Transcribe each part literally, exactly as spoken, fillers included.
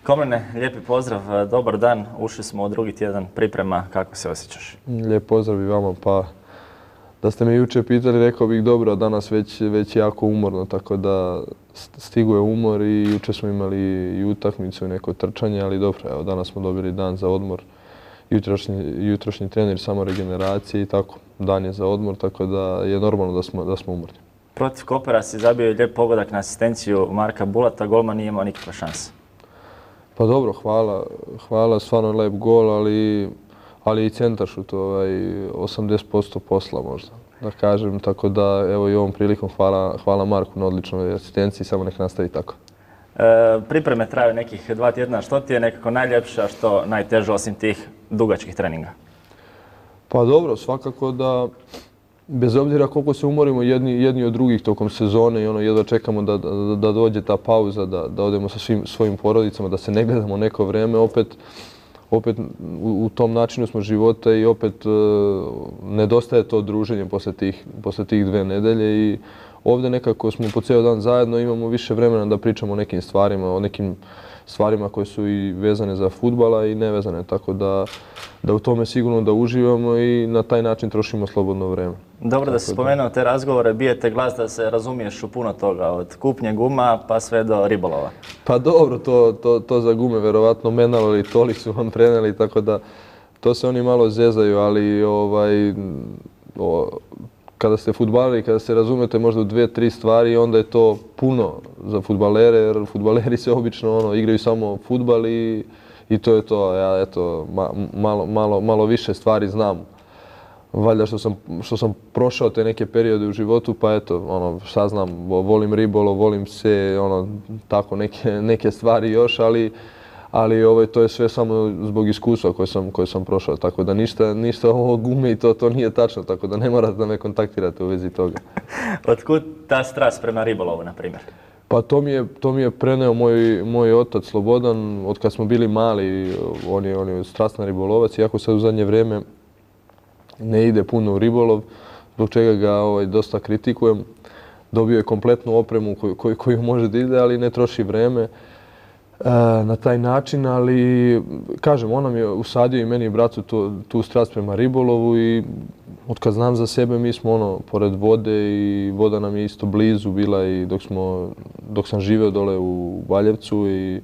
Komene, lijepi pozdrav, dobar dan. Ušli smo u drugi tjedan priprema. Kako se osjećaš? Lijep pozdrav i vama. Pa da ste me jučer pitali, rekao bih dobro, a danas već, već jako umorno, tako da stiguje umor i jučer smo imali i utakmicu i neko trčanje, ali dobro, evo danas smo dobili dan za odmor. Jutrošnji, jutrošnji trener samo regeneracije i tako, dan je za odmor, tako da je normalno da smo, da smo umorni. Protiv Kopera si zabio lijep pogodak na asistenciju Marka Bulata, golman nije imao nikakve šanse. Pa dobro, hvala, hvala, stvarno lep gol, ali, ali i centaršut, ovaj, osamdeset posto posla možda, da kažem, tako da evo i ovom prilikom hvala, hvala Marku na odličnoj asistenciji, samo nek nastavi tako. E, pripreme traju nekih dva tjedna, što ti je nekako najljepše, a što najteže osim tih dugačkih treninga? Pa dobro, svakako da bez obzira koliko se umorimo jedni, jedni od drugih tokom sezone i ono jedva čekamo da, da, da dođe ta pauza, da, da odemo sa svim svojim porodicama, da se ne gledamo neko vrijeme, opet, opet u, u tom načinu smo života i opet e, nedostaje to druženje posle tih, posle tih dve nedelje i ovdje nekako smo po cijel dan zajedno, imamo više vremena da pričamo o nekim stvarima, o nekim stvarima koje su i vezane za fudbala i nevezane, tako da, da u tome sigurno da uživamo i na taj način trošimo slobodno vrijeme. Dobro da si spomenuo te razgovore, bijete glas da se razumiješ u puno toga, od kupnje guma pa sve do ribolova. Pa dobro, to, to, to za gume verovatno Menalo ili Toli su vam preneli, tako da to se oni malo zezaju, ali ovaj, o, kada ste fudbaleri, kada se razumete možda u dvije, tri stvari, onda je to puno za fudbalere, jer fudbaleri se obično ono, igraju samo fudbal i, i to je to. Ja eto, ma, malo, malo, malo više stvari znam. Valjda što sam, što sam prošao te neke periode u životu, pa eto, ono, šta znam, volim ribolov, volim pse, ono, tako neke, neke stvari još, ali ali ovaj, to je sve samo zbog iskustva koje sam, koje sam prošao, tako da ništa, ništa ovo gume i to, to nije tačno, tako da ne morate da me kontaktirate u vezi toga. Otkud ta strast prema ribolovu, na primjer? Pa to mi je, to mi je preneo moj, moj otac Slobodan, od kad smo bili mali, on je, on je strastan ribolovac, iako sad u zadnje vrijeme ne ide puno u ribolov, zbog čega ga ovaj, dosta kritikujem. Dobio je kompletnu opremu koju, koju, koju može da ide, ali ne troši vreme na taj način, ali kažem, on nam je usadio i meni i bratu tu, tu strast prema ribolovu i od kad znam za sebe mi smo ono pored vode i voda nam je isto blizu bila i dok, smo, dok sam živeo dole u Baljevcu i,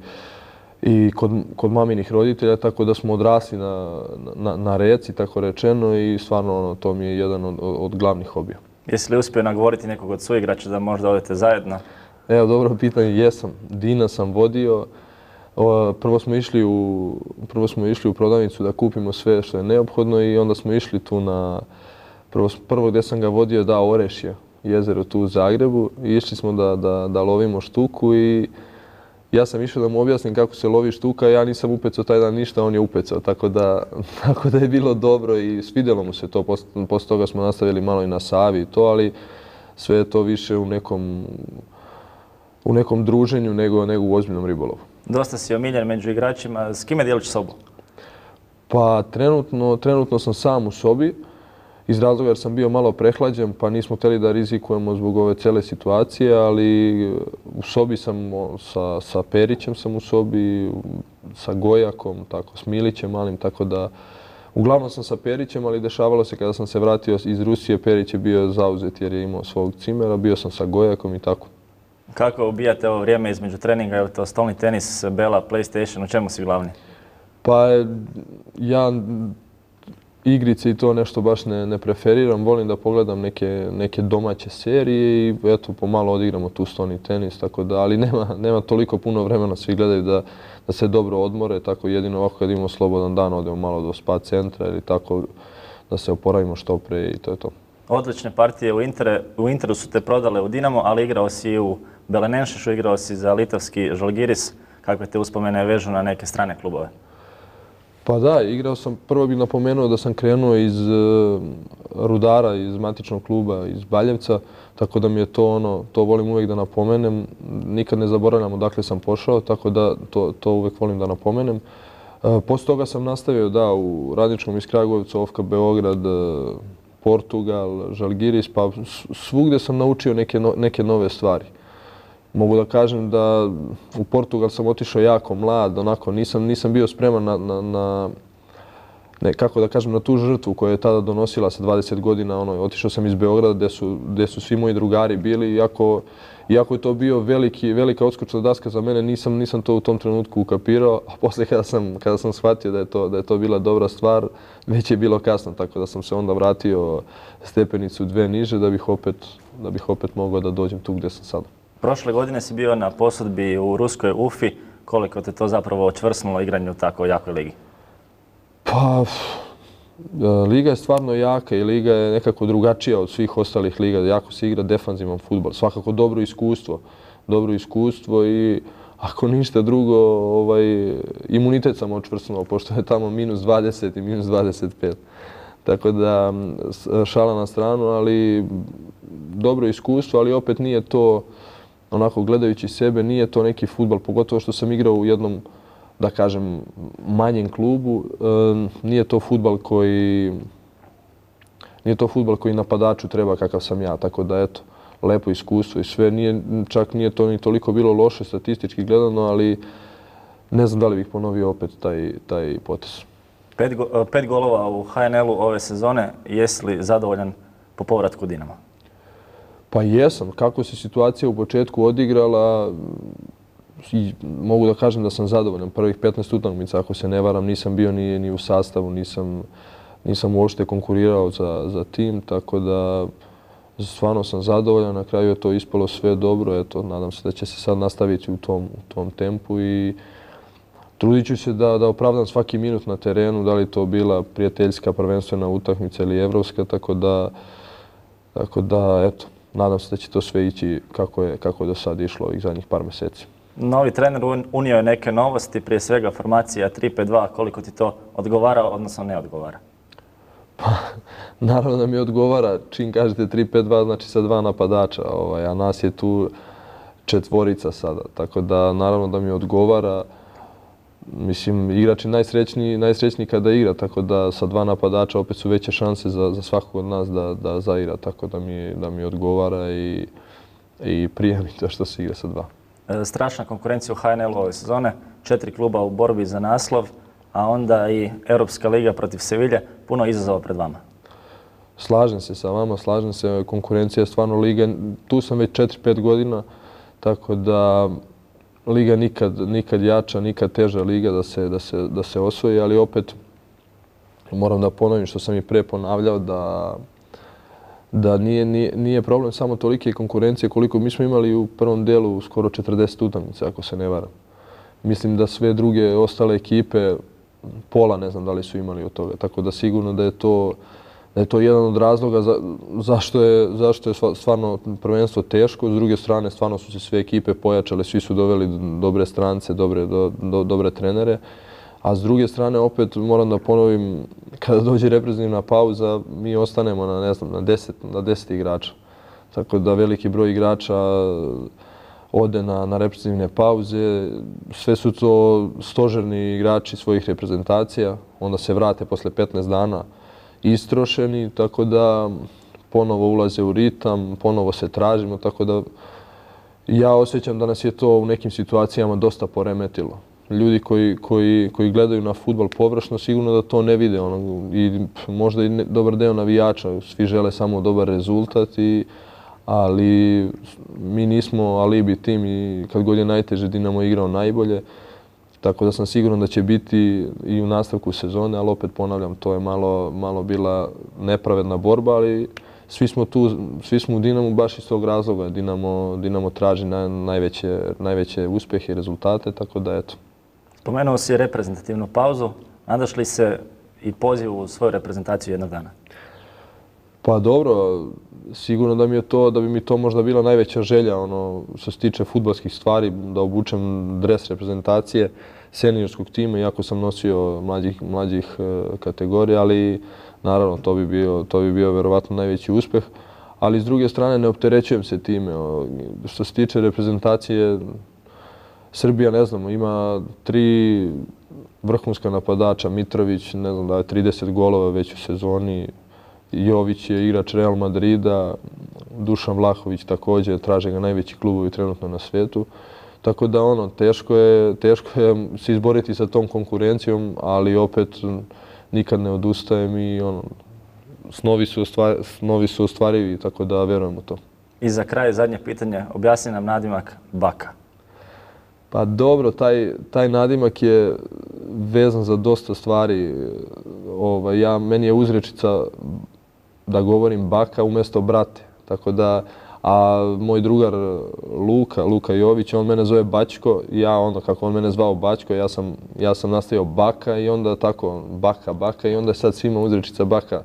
i kod, kod maminih roditelja, tako da smo odrasli na, na, na reci, tako rečeno, i stvarno ono, to mi je jedan od, od glavnih hobija. Jesi li uspio nagovoriti nekog od suigrača da možda odete zajedno? Evo, dobro pitanje, jesam. Dina sam vodio. Prvo smo išli u, prvo smo išli u prodavnicu da kupimo sve što je neophodno i onda smo išli tu na, prvo, prvo gdje sam ga vodio da Orešje, jezero tu u Zagrebu, i išli smo da, da, da lovimo štuku i ja sam išao da mu objasnim kako se lovi štuka, ja nisam upecao taj dan ništa, on je upecao, tako da, tako da je bilo dobro i svidjelo mu se to. Posle, posle toga smo nastavili malo i na Savi i to, ali sve je to više u nekom, u nekom druženju nego, nego u ozbiljnom ribolovu. Dosta si omiljen među igračima. S kime dijeliš sobu? Pa trenutno, trenutno sam sam u sobi, iz razloga jer sam bio malo prehlađen, pa nismo htjeli da rizikujemo zbog ove cele situacije, ali u sobi sam sa, sa Perićem sam u sobi, sa Gojakom, tako, s Milićem malim, tako da uglavnom sam sa Perićem, ali dešavalo se kada sam se vratio iz Rusije, Perić je bio zauzet jer je imao svog cimera, bio sam sa Gojakom i tako. Kako ubijate ovo vrijeme između treninga? Je li to stolni tenis, Bela, PlayStation, u čemu si glavni? Pa ja igrice i to nešto baš ne, ne preferiram. Volim da pogledam neke, neke domaće serije i eto, pomalo odigramo tu stolni tenis, tako da, ali nema, nema toliko puno vremena, svi gledaju da, da se dobro odmore, tako jedino ovako kad imamo slobodan dan odemo malo do spa centra ili tako da se oporavimo što pre i to je to. Odlične partije u, Inter, u Interu su te prodale u Dinamo, ali igrao si i u Belenenšešu, igrao si za litovski Žalgiris. Kakve te uspomene vežu na neke strane klubove? Pa da, igrao sam, prvo bih napomenuo da sam krenuo iz uh, Rudara, iz matičnog kluba, iz Baljevca, tako da mi je to ono, to volim uvijek da napomenem. Nikad ne zaboravljam odakle sam pošao, tako da to, to uvijek volim da napomenem. Uh, Posle toga sam nastavio da u Radničkom iz Kragujevca, O F K Beograd, uh, Portugal, Žalgiris, pa svugdje sam naučio neke, no, neke nove stvari. mogu da kažem da u Portugal sam otišao jako mlad, onako nisam, nisam bio spreman na, na, na ne, kako da kažem, na tu žrtvu koja je tada donosila sa dvadeset godina. Ono, otišao sam iz Beograda gdje su, gdje su svi moji drugari bili, iako, iako je to bio veliki, velika odskočna daska za mene, nisam, nisam to u tom trenutku ukapirao, a poslije kada sam, kada sam shvatio da je, to, da je to bila dobra stvar, već je bilo kasno, tako da sam se onda vratio stepenicu dve niže da bih opet, da bih opet mogao da dođem tu gdje sam sada. Prošle godine si bio na posudbi u ruskoj Ufi. Koliko te to zapravo očvrsnulo igranju u tako jakoj ligi? Pa, liga je stvarno jaka i liga je nekako drugačija od svih ostalih liga. Jako se igra defanzivan fudbal. Svakako dobro iskustvo. Dobro iskustvo i ako ništa drugo, ovaj, imunitet sam očvrsnuo, pošto je tamo minus dvadeset i minus dvadeset pet. Tako da, šala na stranu, ali dobro iskustvo, ali opet nije to, onako gledajući sebe, nije to neki fudbal, pogotovo što sam igrao u jednom, da kažem, manjem klubu. Nije to fudbal koji, nije to fudbal koji napadaču treba kakav sam ja, tako da eto, lepo iskustvo i sve. Nije, čak nije to ni toliko bilo loše statistički gledano, ali ne znam da li bih ponovio opet taj, taj potez. Pet, go, pet golova u H N L-u ove sezone, jesi li zadovoljan po povratku Dinama? Pa jesam. Kako se situacija u početku odigrala, i mogu da kažem da sam zadovoljan. Prvih petnaest utakmica, ako se ne varam, nisam bio ni, ni u sastavu, nisam, nisam uopšte konkurirao za, za tim, tako da stvarno sam zadovoljan. Na kraju je to ispalo sve dobro. Eto, nadam se da će se sad nastaviti u tom, u tom tempu i trudit ću se da, da opravdam svaki minut na terenu, da li to bila prijateljska prvenstvena utakmica ili evropska, tako da, tako da eto, nadam se da će to sve ići kako je, kako je do sad išlo ovih zadnjih par mjeseci. Novi trener unio je neke novosti, prije svega formacija tri pet dva, koliko ti to odgovara, odnosno ne odgovara? Pa, naravno da mi odgovara. Čim kažete tri pet dva, znači sa dva napadača, ovaj, a nas je tu četvorica sada, tako da naravno da mi odgovara. Mislim, igrač je najsrećniji, najsrećniji kada igra, tako da sa dva napadača opet su veće šanse za, za svakog od nas da, da zaigra, tako da mi, da mi odgovara i, i prija mi to što se igra sa dva. E, strašna konkurencija u H N L-u ove sezone, četiri kluba u borbi za naslov, a onda i Europska liga protiv Sevilje, puno izazova pred vama. Slažem se sa vama, slažem se, konkurencija je stvarno liga, tu sam već četiri pet godina, tako da liga nikad, nikad jača, nikad teža liga da se, da, se, da se osvoji, ali opet moram da ponovim što sam i pre ponavljao da, da nije, nije, nije problem samo tolike konkurencije koliko mi smo imali u prvom delu skoro četrdeset utakmica, ako se ne varam. Mislim da sve druge ostale ekipe pola ne znam da li su imali od toga, tako da sigurno da je to, da je to jedan od razloga za, zašto, je, zašto je stvarno prvenstvo teško. S druge strane, stvarno su se sve ekipe pojačale, svi su doveli dobre strance, dobre, do, do, dobre trenere. A s druge strane, opet moram da ponovim, kada dođe reprezentativna pauza, mi ostanemo na, ne znam, na, deset, na deset igrača. Tako da veliki broj igrača ode na, na reprezentativne pauze. Sve su to stožerni igrači svojih reprezentacija. Onda se vrate posle petnaest dana istrošeni, tako da ponovo ulaze u ritam, ponovo se tražimo, tako da ja osjećam da nas je to u nekim situacijama dosta poremetilo. Ljudi koji, koji, koji gledaju na fudbal površno sigurno da to ne vide. Ono, i možda i ne, dobar deo navijača, svi žele samo dobar rezultat, i, ali mi nismo alibi tim i kad god je najteže Dinamo igrao najbolje. Tako da sam siguran da će biti i u nastavku sezone, ali opet ponavljam, to je malo, malo bila nepravedna borba, ali svi smo tu, svi smo u Dinamu baš iz tog razloga. Dinamo, Dinamo traži na, najveće, najveće uspjehe i rezultate, tako da eto. Spomenuo si reprezentativnu pauzu. Nadaš li se i poziv u svoju reprezentaciju jednog dana? Pa dobro, sigurno da mi je to, da bi mi to možda bila najveća želja, ono, što se tiče fudbalskih stvari, da obučem dres reprezentacije seniorskog tima, iako sam nosio mlađih, mlađih kategorija, ali naravno to bi bio, to bi bio verovatno najveći uspjeh. Ali s druge strane ne opterećujem se time. Što se tiče reprezentacije, Srbija, ne znam, ima tri vrhunska napadača, Mitrović, ne znam da je trideset golova već u sezoni, Jović je igrač Real Madrida, Dušan Vlahović također, traže ga najveći klubovi trenutno na svijetu. Tako da ono, teško je, teško je se izboriti sa tom konkurencijom, ali opet nikad ne odustajem i ono, snovi su, ostvar, snovi su ostvarivi, tako da vjerujem u to. I za kraj zadnje pitanje, objasni nam nadimak Baka. Pa dobro, taj, taj nadimak je vezan za dosta stvari. Ovaj, ja, meni je uzrečica da govorim Baka umjesto brate. Tako da, a moj drugar Luka, Luka Jović, on mene zove Bačko. Ja onda kako on mene zvao Bačko, ja sam, ja sam nastavio Baka i onda tako Baka, Baka i onda je sad svima uzrečica Baka.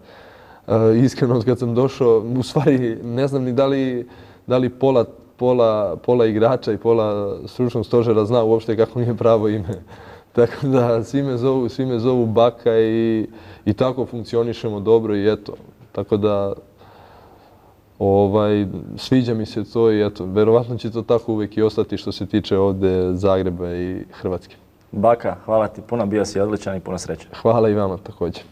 E, iskreno, od kad sam došao, u stvari ne znam ni da li, da li pola Pola, pola igrača i pola stručnog stožera zna uopšte kako mi je pravo ime. Tako da svi me zovu, svi me zovu Baka i, i tako funkcionišemo dobro i eto. Tako da ovaj, sviđa mi se to i eto, verovatno će to tako uvijek i ostati što se tiče ovdje Zagreba i Hrvatske. Baka, hvala ti puno, bio si odličan i puno sreće. Hvala i vama također.